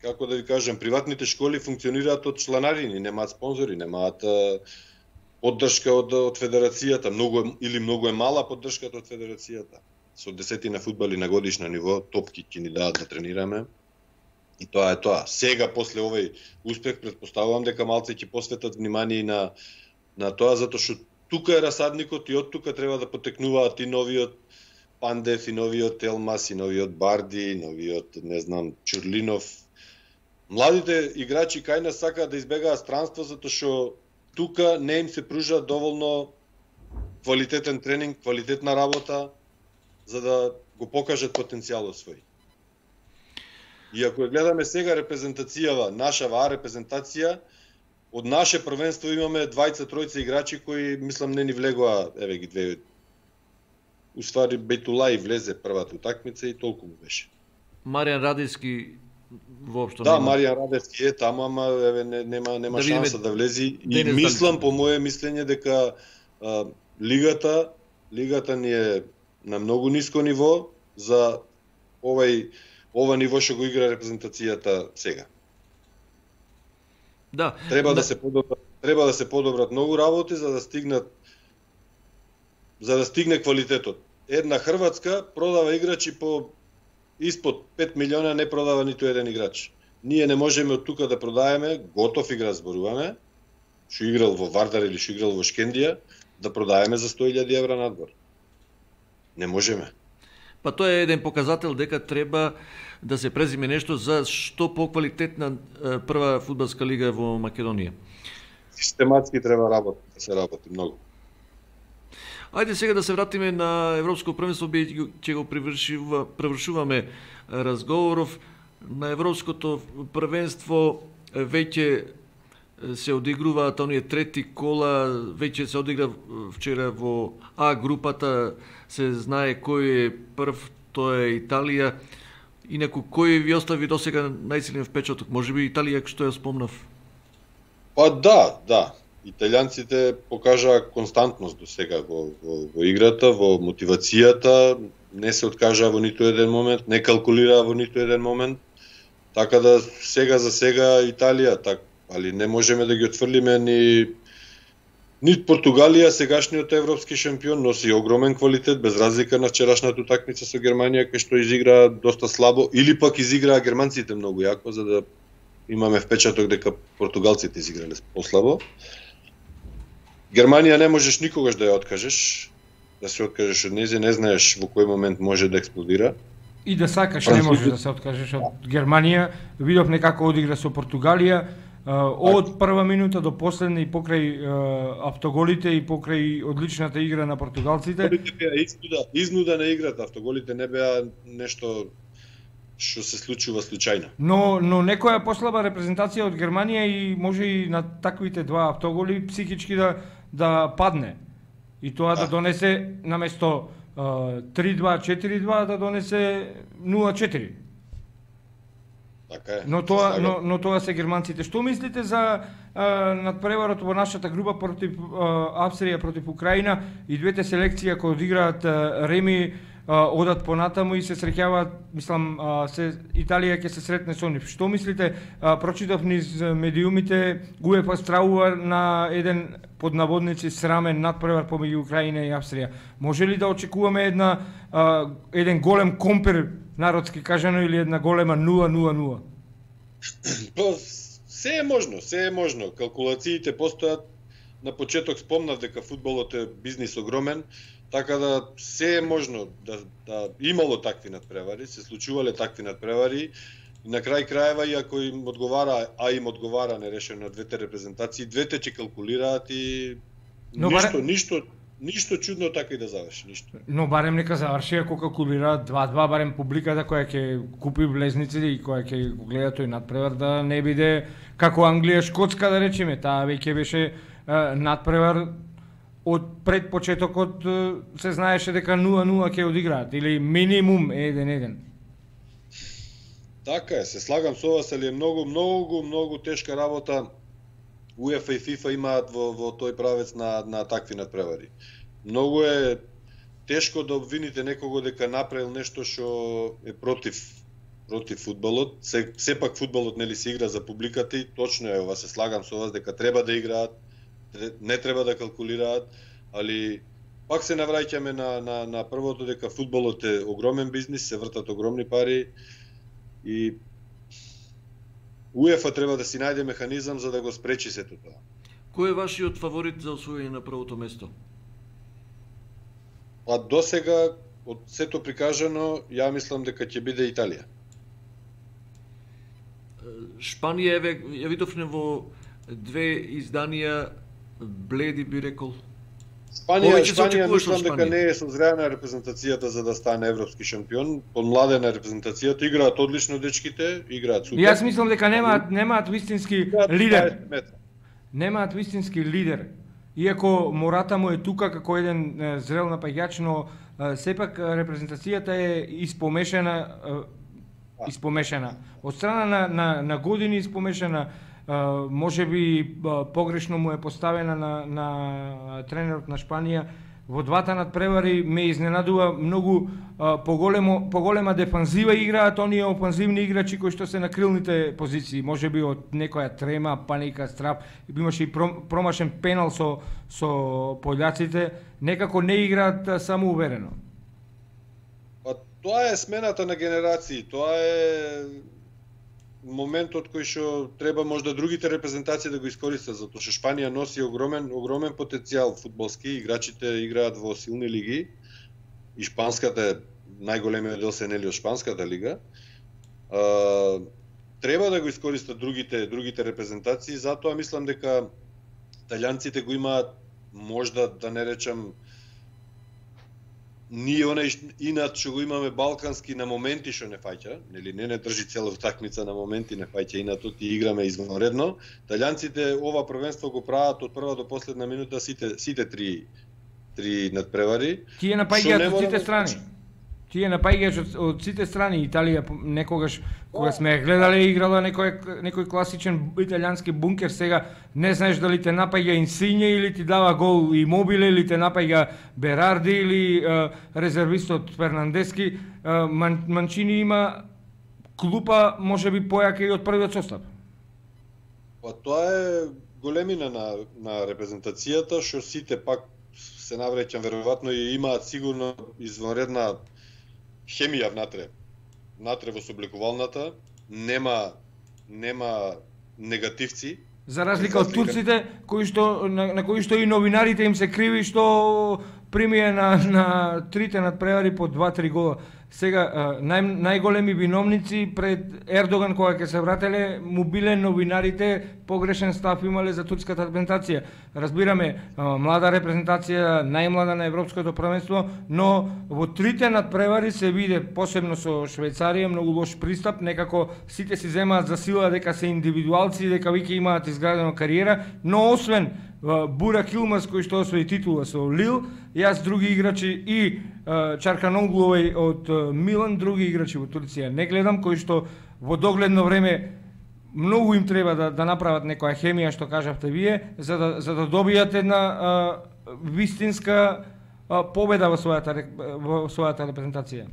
како да ви кажам, приватните школи функционираат од чланарини, немаат спонзори, немаат а, поддршка од, од федерацијата, многу е, или многу е мала поддршката од федерацијата. Со десетина фудбали на годишно ниво, топки ќе ни дадат да тренираме. И тоа е тоа. Сега, после овој успех, предпоставувам дека малце ќе посветат внимание и на, на тоа, затоа што тука е расадникот и од тука треба да потекнуваат и новиот Пандев, и новиот Елмас, и новиот Барди, и новиот, не знам, Чурлинов. Младите играчи кај нас сакаат да избегаат странство, затоа што тука не им се пружа доволно квалитетен тренинг, квалитетна работа, за да го покажат потенцијалот свој. И ако ја гледаме сега репрезентацијава, наша ваа репрезентација, од наше првенство имаме двајца тројца играчи кои мислам не ни влегоа, еве ги две. Уствари Бейтулај влезе првата утакмица и толку му беше. Маријан Радевски воопшто Да, нема. Маријан Радевски е таму, ама еве не, нема нема Да видиме шанса да влези и денес мислам дали- по мое мислење дека а, лигата лигата ни е на многу ниско ниво за овај ова ниво што го игра репрезентацијата сега. Да. Треба на- да се подобрат, треба да се подобрат многу работи за да стигнат за да стигне квалитетот. Една Хрватска продава играчи по испод пет милиона, не продава ниту еден играч. Ние не можеме од тука да продаваме готов играч, зборуваме, што играл во Вардар или што играл во Шкендија, да продаваме за сто илјади евра надвор. Не можеме. Па тоа е еден показател дека треба да се презиме нешто за што поквалитетна прва фудбалска лига во Македонија. Систематски треба работи, да се работи многу. Ајде сега да се вратиме на Европско првенство, ќе го привршува, привршуваме разговоров. На Европското првенство веќе се одигруваат оние трети кола, веќе се одигра вчера во А групата, се знае кој е прв, тоа е Италија. Инаку кој ви остави досега најсилен впечаток? Можеби Италија, што ја спомнав? Па да, да. Италијанците покажаа константност до сега во, во, во играта, во мотивацијата, не се откажаа во ниту еден момент, не калкулираа во ниту еден момент. Така да сега за сега Италија, так, али не можеме да ги отфрлиме ни нит Португалија, сегашниот европски шампион, носи огромен квалитет, без разлика на вчерашната утакмица со Германија, кај што изигра доста слабо, или пак изиграа германците многу јако, за да имаме впечаток дека португалците изиграле послабо. Германија не можеш никогаш да ја откажеш, да се откажеш од нејзе, не знаеш во кој момент може да експлодира. И да сакаш не можеш да се откажеш од Германија. Видовме како одигра со Португалија, од прва минута до последна и покрај автоголите и покрај одличната игра на португалците. Автоголите беа изнуда, изнуда на играта, автоголите не беа нешто што се случува случајно. Но но некоја послаба репрезентација од Германија и може и на таквите два автоголи психички да да падне. И тоа да, да донесе наместо три два четири два да донесе нула четири. Така е. Но тоа но, но тоа се германците. Што мислите за а, надпреварот во нашата група против а, Австрија против Украина и двете селекции кои одиграат а, реми а, одат понатаму и се среќаваат, мислам, а, се Италија ќе се сретне со нив. Што мислите? А, прочитав низ медиумите, УЕФА стравува на еден под наводници срамен надпревар помеѓу Украина и Австрија. Може ли да очекуваме една а, еден голем компер, народски кажано, или една голема нула нула нула? Па, се е можно, се е можно. Калкулациите постојат. На почеток спомнав дека фудбалот е бизнис огромен, така да се е можно да, да имало такви надпревари, се случувале такви надпревари. И на крај краева, и ако им одговара, а им одговара нерешено на двете репрезентации, двете ќе калкулираат и Но ништо, барем... ништо, ништо чудно така и да заврши, ништо. Но барем нека заврши ако калкулираат два два, барем публиката која ќе купи влезниците и која ќе го гледа тој надпревар да не биде како Англија Шкотска, да речеме, таа веќе беше е, надпревар од пред почетокот се знаеше дека нула нула ќе одиграат или минимум еден еден. Така е, се слагам со вас, али е многу, многу, многу тешка работа УЕФА и ФИФА имаат во, во тој правец на, на такви надпревари. Многу е тешко да обвините некого дека направил нешто што е против против фудбалот. Се, сепак фудбалот нели се игра за публиката и точно е, ова се слагам со вас дека треба да играат, не треба да калкулираат, али пак се навраќаме на, на, на првото дека фудбалот е огромен бизнис, се вртат огромни пари. И УЕФА треба да си најде механизам за да го спречи сето тоа. Кој е вашиот фаворит за освојање на првото место? Па досега од сето прикажано, ја мислам дека ќе биде Италија. Шпанија, еве, ја видовме во две изданија бледи, би рекол. Шпанија, Шпанија мислам дека не е созреана репрезентацијата за да стане европски шампион. Помладена репрезентацијата, играат одлично дечките, играат супер. Јас мислам дека немаат немаат вистински лидер. Немаат вистински лидер. Иако Мората му е тука како еден е, зрел напаѓач, но е, сепак репрезентацијата е испомешана е, испомешана. Од страна на на, на години испомешана. Може би погрешно му е поставена на, на тренерот на Шпанија во двата надпревари ме изненадува многу а, поголемо поголема дефанзива играат оние опанзивни играчи кои што се на крилните позиции, можеби од некоја трема, паника, страп, имаше и промашен пенал со со пољаците, некако не играат самоуверено. Па тоа е смената на генерации, тоа е моментот кој што треба можда другите репрезентации да го искористат, затоа што Шпанија носи огромен огромен потенцијал фудбалски, играчите играат во силни лиги и шпанската е најголемиот дел се нели од шпанската лига. А, треба да го искористат другите другите репрезентации, затоа мислам дека италијанците го имаат можда да не речам ние онај инат што го имаме балкански на моменти што не фаќа, нели не не држи цела утакмица, на моменти не фаќа инатот и играме извонредно. Италијанците ова првенство го прават од прва до последна минута сите сите три три надпревари. Тие напаѓаат од сите страни. Тие напаѓаат од, од сите страни. Италија некогаш кога сме гледале играла некој некој класичен италијански бункер, сега не знаеш дали те напаѓа Инсиње или ти дава гол Имобиле или те напаѓа Берарди или е, резервистот Фернандески. Е, Ман, Манчини има клупа можеби појака и од првиот состав. Па тоа е големина на на репрезентацијата што сите пак се навреќам веројатно и имаат сигурно извонредна хемија внатре. Внатре во соблекувалната нема нема негативци. За разлика од турците кои што на, на кои што и новинарите им се криви што примија на на трите надпревари по два-три гола. Сега нај, најголеми виновници пред Ердоган кога ќе се врателе му биле новинарите, погрешен став имале за турската репрезентација. Разбираме, млада репрезентација, најмлада на европското првенство, но во трите надпревари се виде, посебно со Швајцарија, многу лош пристап, некако сите си земаат за сила дека се индивидуалци, дека веќе имаат изградено кариера, но освен Бурак Илмаз кој што освои титула со Лил, јас други играчи и Чарканоглу од Милан, други играчи во Турција не гледам, кои што во догледно време многу им треба да, да направат некоја хемија, што кажавте вие, за да, за да добијат една а, вистинска а, победа во својата, во својата репрезентација.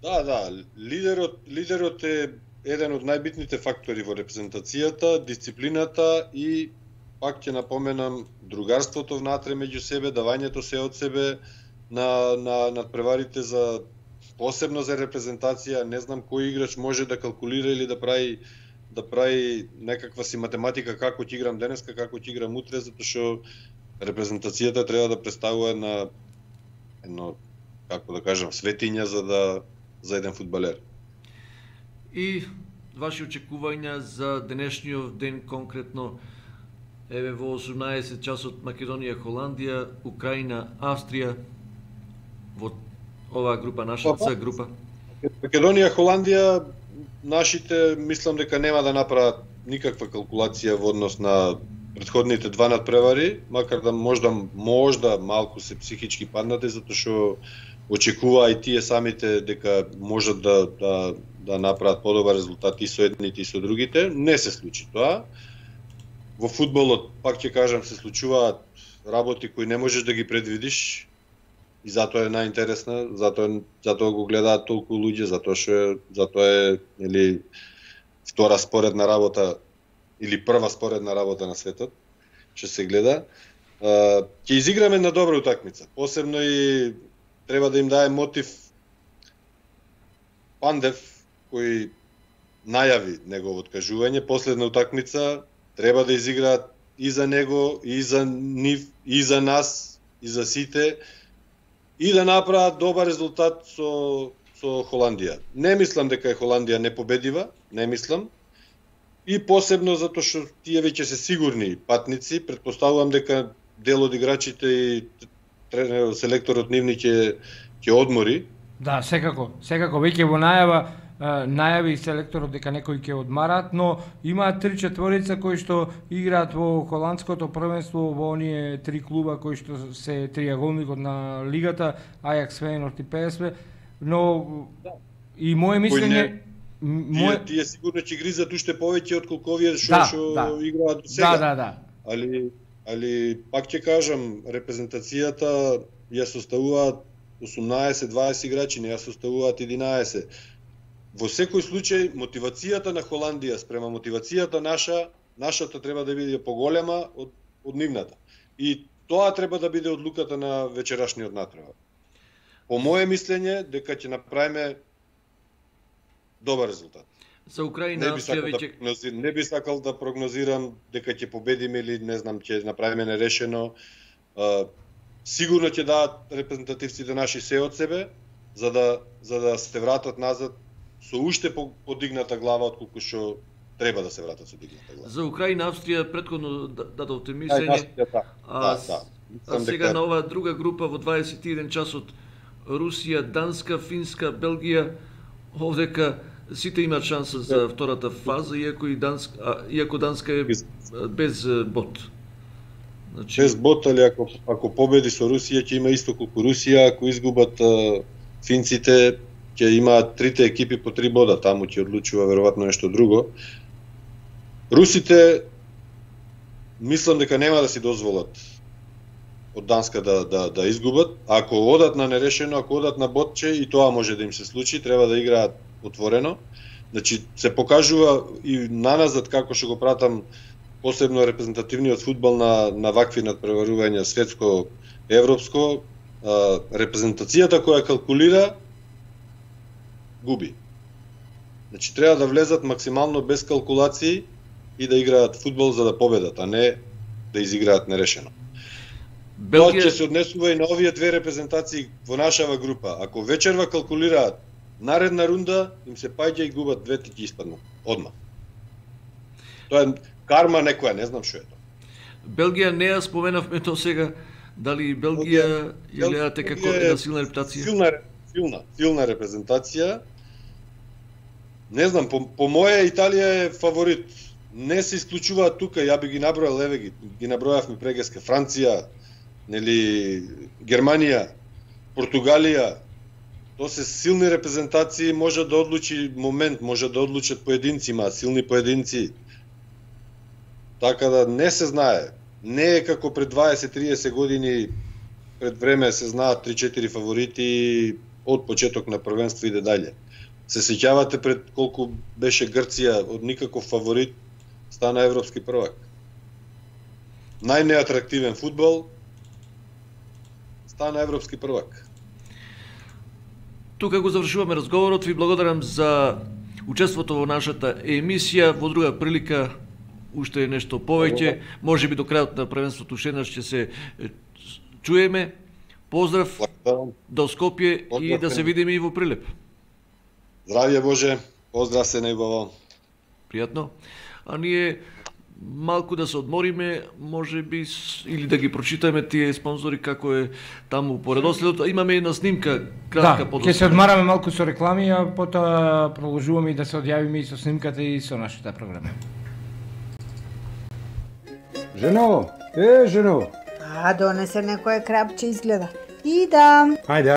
Да, да, лидерот, лидерот е еден од најбитните фактори во репрезентацијата, дисциплината и пак ќе напоменам другарството внатре меѓу себе, давањето се од себе на на надпреварите за посебно за репрезентација. Не знам кој играч може да калкулира или да прави да прави некаква си математика како ќе играм денеска, како ќе играм утре, затоа што репрезентацијата треба да представува на едно, како да кажам, светиња за да за еден фудбалер. И ваши очекувања за денешниот ден конкретно? Еве во осумнаесет часот Македонија, Холандија, Украина, Австрија, во оваа група, нашата Црна група. Македонија, Холандија, нашите мислам дека нема да направат никаква калкулација во однос на претходните два надпревари, макар да можда можда малку се психички паднате, затоа што очекуваа и тие самите дека можат да да да направат подобар резултат и со едните и со другите. Не се случи тоа. Во фудбалот, пак ќе кажам, се случуваат работи кои не можеш да ги предвидиш и затоа е најинтересна, затоа затоа го гледаат толку луѓе, затоа што затоа е нели втора споредна работа или прва споредна работа на светот што се гледа. Ќе изиграме на добра утакмица. Посебно и треба да им даде мотив Пандев кој најави неговото откажување, последна утакмица треба да изиграат и за него, и за нив, и за нас, и за сите, и да направат добар резултат со, со Холандија. Не мислам дека е Холандија непобедива, не мислам. И посебно затоа што тие веќе се сигурни патници, претпоставувам дека дел од играчите и селекторот нивни ќе ќе одмори. Да, секако, секако веќе во најава најави селекторот дека некои ќе одмарат, но имаат три четворица кои што играат во холандското првенство, во оние три клуба кои што се триаголникот на лигата, Ајакс, Фејенорд и ПСВ, но и моје мислење Мој... Тие, тие сигурно ќе гризат уште повеќе отколку овие што што да, да. играат до сега. Да, да, да. Али али пак ќе кажам, репрезентацијата ја составуваат осумнаесет дваесет играчи, не ја составуваат единаесет. Во секој случај, мотивацијата на Холандија спрема мотивацијата наша, нашата треба да биде поголема од, од нивната. И тоа треба да биде одлуката на вечерашниот натпревар. По моje мислење, дека ќе направиме добар резултат. За Украина, Австрија веќе... Да, не би сакал да прогнозирам дека ќе победиме или не знам, ќе направиме нерешено. А, сигурно ќе дадат репрезентативците наши се од себе, за да, за да се вратат назад со уште подигната глава отколку што треба да се вратат со дигната глава. За Украина, Австрија претходно дадовте мислење. Да, да, а, да. А сега дека... на оваа друга група во дваесет и еден часот Русија, Данска, Финска, Белгија, овдека сите имаат шанса за втората фаза, иако и Данска, а, иако Данска е без, без бот. Значи... Без бот, али ако, ако победи со Русија, ќе има исто колку Русија, ако изгубат а, финците, ќе имаат трите екипи по три бода, таму ќе одлучува веројатно нешто друго. Русите, мислам дека нема да си дозволат од Данска да, да, да изгубат. Ако одат на нерешено, ако одат на ботче, и тоа може да им се случи, треба да играат отворено. Значи, се покажува и наназад, како што го пратам, посебно репрезентативниот фудбал на, на вакви надпреварувања светско, европско, а, репрезентацијата која калкулира, губи. Значи, треба да влезат максимално без калкулации и да играат фудбал за да победат, а не да изиграат нерешено. Белгија... Тоа ќе се однесува и на овие две репрезентации во нашава група. Ако вечерва калкулираат наредна рунда, им се паѓа и губат двете ќе испаднат одма. Тоа е карма некоја, не знам што е тоа. Белгија не ја споменавме тоа сега, дали Белгија ја гледате како една силна репутација? Силна, силна, силна репрезентација. Не знам, по, по моја Италија е фаворит. Не се исклучуваат тука, ја би ги набројал, еве ги, ги набројавме прегеска. Франција, нели Германија, Португалија. Тоа се силни репрезентации, може да одлучи момент, може да одлучат поединци, има силни поединци. Така да не се знае. Не е како пред дваесет триесет години, пред време се знаат три-четири фаворити, од почеток на првенство иде дале. Се сеќавате пред колку беше Грција од никаков фаворит, стана европски првак. Најнеатрактивен фудбал, стана европски првак. Тука го завршуваме разговорот. Ви благодарам за учеството во нашата емисија. Во друга прилика уште нешто повеќе. Може би до крајот на првенството уште еднаш ќе се чуеме. Поздрав до Скопје и да се видиме и во Прилеп. Здравје Боже, поздрав се најубаво. Пријатно. А ние малку да се одмориме, може би, или да ги прочитаме тие спонзори како е таму по редоследот. Имаме една снимка, кратка да, подоста. ќе се одмараме малку со реклами, а потоа продолжуваме и да се одјавиме и со снимката и со нашата програма. Жено, е, жено. А, донесе некое крапче изгледа. Идам. Ајде.